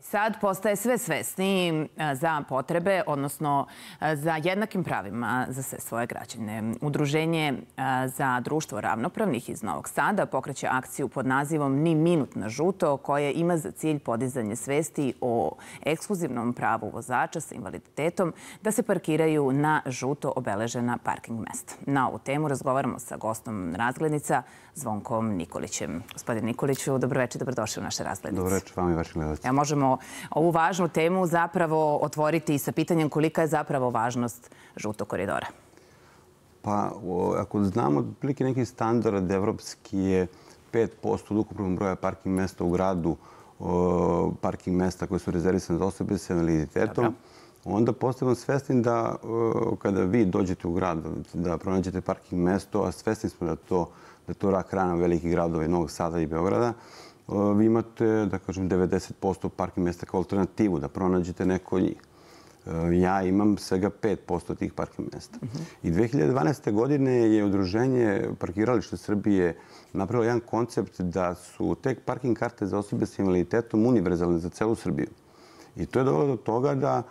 sad postaje sve svesniji za potrebe, odnosno za jednakim pravima za sve svoje građane. Udruženje za društvo ravnopravnih iz Novog Sada pokreće akciju pod nazivom Ni minut na žuto, koje ima za cilj podizanje svesti o ekskluzivnom pravu vozača sa invaliditetom da se parkiraju na žuto obeležena parking mesta. Na ovu temu razgovaramo sa gostom Razglednica, Zvonkom Nikolićem. Gospodin Nikoliću, dobroveče, dobrodošli u naše Razglednice. Dobroveče vam i vašim gledalcima. Možemo ovu važnu temu zapravo otvoriti sa pitanjem kolika je zapravo važnost žutog koridora. Pa, ako znamo otprilike neki standard evropski je 5% od ukupnog broja parking mesta u gradu, parking mesta koje su rezervisane za osobe sa invaliditetom, onda postajemo svesni da kada vi dođete u grad da pronađete parking mesto, a svesni smo da je to rak rana velikih gradova i Novog Sada i Beograda, vi imate, da kažem, 90% parking mesta kao alternativu, da pronađete neko od njih. Ja imam svega 5% tih parking mesta. I 2012. godine je Udruženje Parkirališta Srbije napravilo jedan koncept da su te parking karte za osobe sa invaliditetom univerzalne za celu Srbiju. I to je dovelo do toga da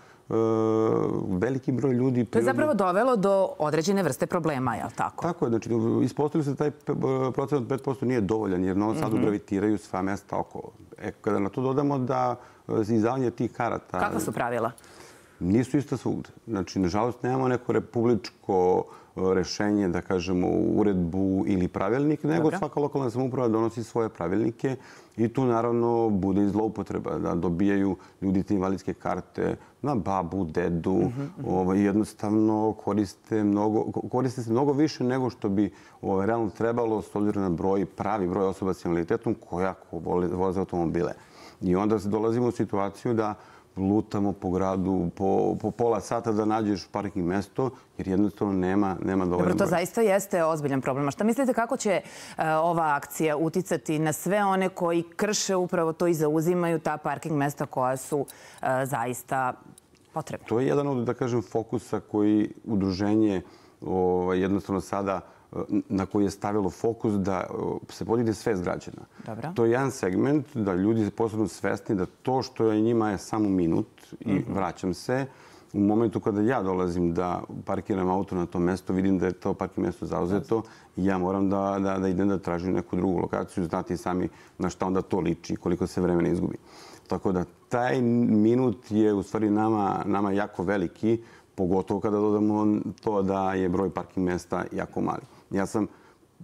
veliki broj ljudi... To je zapravo dovelo do određene vrste problema, je li tako? Tako je. Znači, ispostavili se da taj procent od 5% nije dovoljan, jer Novom Sadu gravitiraju sva mesta okolo. Kada na to dodamo da izdavanje tih karata... Kakva su pravila? Nisu ista svugde. Znači, nažalost, nemamo neko republičko rešenje, da kažemo, uredbu ili pravilnik, nego svaka lokalna samouprava donosi svoje pravilnike i tu, naravno, bude i zloupotreba da dobijaju ljudi te invalidske karte na babu, dedu. Jednostavno koriste se mnogo više nego što bi realno trebalo s obzirom na pravi broj osoba s invaliditetom koja voze automobile. I onda dolazimo u situaciju da lutamo po gradu po pola sata da nađeš parking mesto, jer jednostavno nema dovoljno broja. Dobro, to zaista jeste ozbiljan problem. A šta mislite kako će ova akcija uticati na sve one koji krše upravo to i zauzimaju ta parking mesta koja su zaista potrebna? To je jedan od, da kažem, fokusa koji udruženje jednostavno sada na koji je stavilo fokus da se podigne svest građana. To je jedan segment da ljudi se posebno svesni da to što je njima je samo minut i vraćam se. U momentu kada ja dolazim da parkiram auto na to mesto, vidim da je to parking mesto zauzeto i ja moram da idem da tražim neku drugu lokaciju. Znate i sami na šta onda to liči i koliko se vremena izgubi. Tako da taj minut je u stvari nama jako veliki, pogotovo kada dodamo to da je broj parking mesta jako mali. Ja sam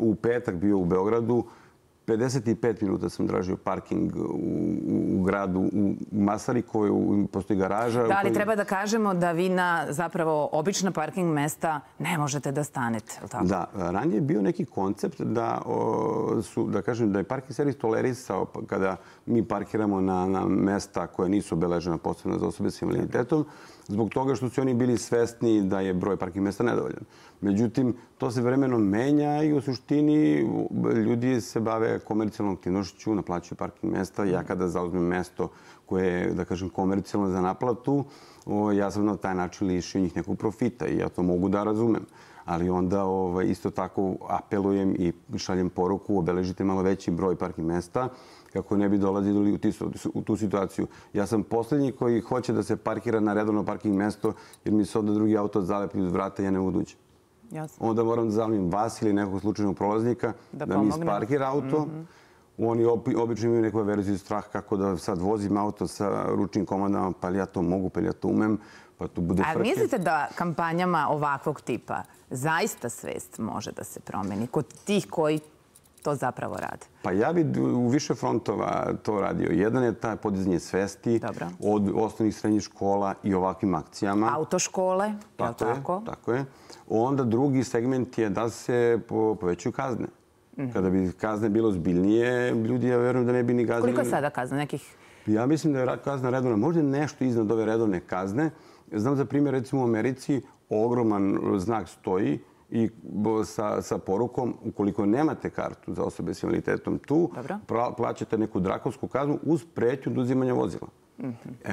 u petak bio u Beogradu, 55 minuta sam tražio parking u gradu, u Masarikovoj, postoji garaža. Da, ali treba da kažemo da vi na zapravo obična parking mesta ne možete da stanete, je li tako? Da, ranije je bio neki koncept da kažem da je parking servis tolerisao kada mi parkiramo na mesta koje nisu obeležena posebno za osobe sa invaliditetom, zbog toga što su oni bili svesni da je broj parking mesta nedovoljan. Međutim, to se vremenom menja i u suštini ljudi se bave komercijalnom aktivnošću, naplaćuju parking mesta. Ja kada zauzmem mesto koje je, da kažem, komercijalno za naplatu, ja sam na taj način lišio njih nekog profita i ja to mogu da razumem. Ali onda isto tako apelujem i šaljem poruku, obeležite malo veći broj parking mesta kako ne bi dolazili u tu situaciju. Ja sam posljednji koji hoće da se parkira na redovno parking mesto jer mi se onda drugi auto zalepi uz vrata i ja ne mogu ući. Onda moram da zamlim vas ili nekog slučajnog prolaznika da mi isparkira auto. Oni obično imaju neku verziju strah kako da sad vozim auto sa ručnim komandama, pa li ja to mogu, pa li ja to umem, pa tu bude frke. A mislite da kampanjama ovakvog tipa zaista svest može da se promeni kod tih koji to zapravo rade? Pa ja bi u više frontova to radio. Jedan je taj podizanje svesti od osnovnih srednjih škola i ovakvim akcijama. Autoškole, je li tako? Tako je. Onda drugi segment je da se povećaju kazne. Kada bi kazne bilo zbiljnije, ljudi, ja verujem da ne bi ni gazili. Koliko je sada kazna? Nekih? Ja mislim da je kazna redovna. Možda nešto iznad ove redovne kazne. Znam za primjer, recimo u Americi, ogroman znak stoji i sa porukom, ukoliko nemate kartu za osobe s invaliditetom tu, plaćate neku drakonsku kaznu uz pretnju oduzimanja vozila.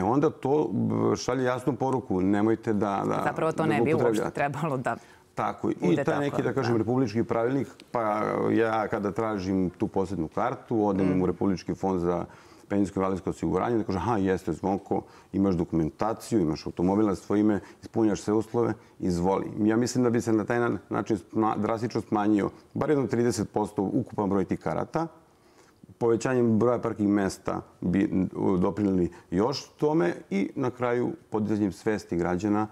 Onda to šalje jasnu poruku. Nemojte da... Zapravo to ne bi uopšte trebalo da... Tako. I taj neki, da kažem, republički pravilnik, pa ja kada tražim tu posebnu kartu, odem u Republički fond za penzijsko invalidsko osiguranje, da kaže, aha, jeste Zvonko, imaš dokumentaciju, imaš automobil na svoje ime, ispunjaš sve uslove, izvoli. Ja mislim da bi se na taj način drastično smanjio bar jedno 30% ukupan broj tih karata. Povećanjem broja parking mesta bi doprinijeli još tome i na kraju podizanjem svesti građana.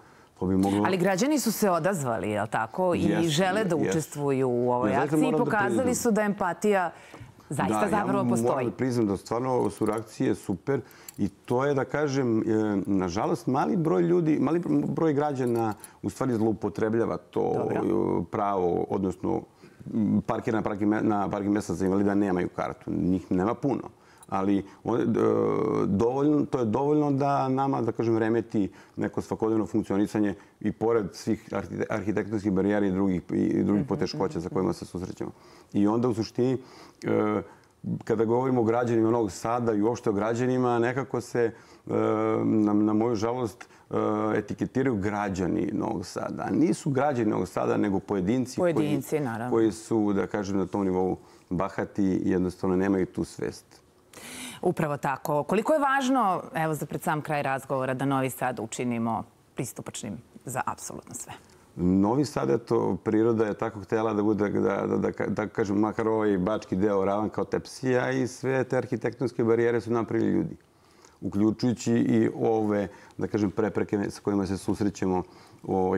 Ali građani su se odazvali, je li tako? I žele da učestvuju u ovoj akciji i pokazali su da empatija zaista zapravo postoji. Moram da priznam da stvarno su reakcije super i to je, da kažem, nažalost, mali broj ljudi, mali broj građana u stvari zloupotrebljava to pravo, odnosno na parking mesta za invalida nemaju kartu. Njih nema puno. Ali to je dovoljno da nama, da kažem, remeti neko svakodnevno funkcionisanje i pored svih arhitektonskih barijera i drugih poteškoća sa kojima se susrećemo. I onda u suštini, kada govorimo o građanima Novog Sada i uopšte o građanima, nekako se, na moju žalost, etiketiraju građani Novog Sada. Nisu građani Novog Sada, nego pojedinci koji su, da kažem, na tom nivou bahati i jednostavno nemaju tu svest. Upravo tako. Koliko je važno, evo za pred sam kraj razgovora, da Novi Sad učinimo pristupačnim za apsolutno sve? Novi Sad, eto, priroda je tako htjela da bude, da kažem, makar ovaj bački deo ravan kao Tepsija i sve te arhitektonske barijere su napravili ljudi. Uključujući i ove, da kažem, prepreke sa kojima se susrećemo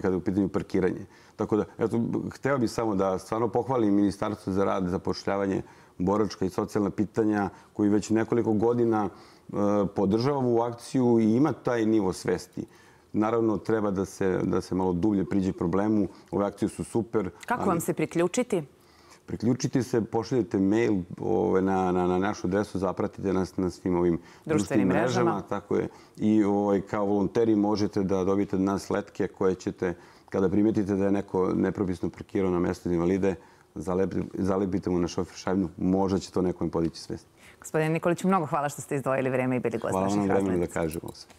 kada je u pitanju parkiranje. Tako da, eto, hteo bih samo da stvarno pohvalim Ministarstvo za rad, zapošljavanje, boračka i socijalna pitanja koji već nekoliko godina podržava ovu akciju i ima taj nivo svesti. Naravno, treba da se malo dublje priđe problemu. Ove akcije su super. Kako vam se priključiti? Priključiti se, pošaljete mail na našu adresu, zapratite nas na svim ovim društvenim mrežama. Tako je. I kao volonteri možete da dobijete od nas letke koje ćete, kada primetite da je neko nepropisno parkirao na mesto invalide, zalepite mu na šofer šajbnu, možda će to nekom podići svest. Gospodine Nikoliću, mnogo hvala što ste izdvojili vreme i bili gost naših razglednica. Hvala vam vremena da kažemo sve.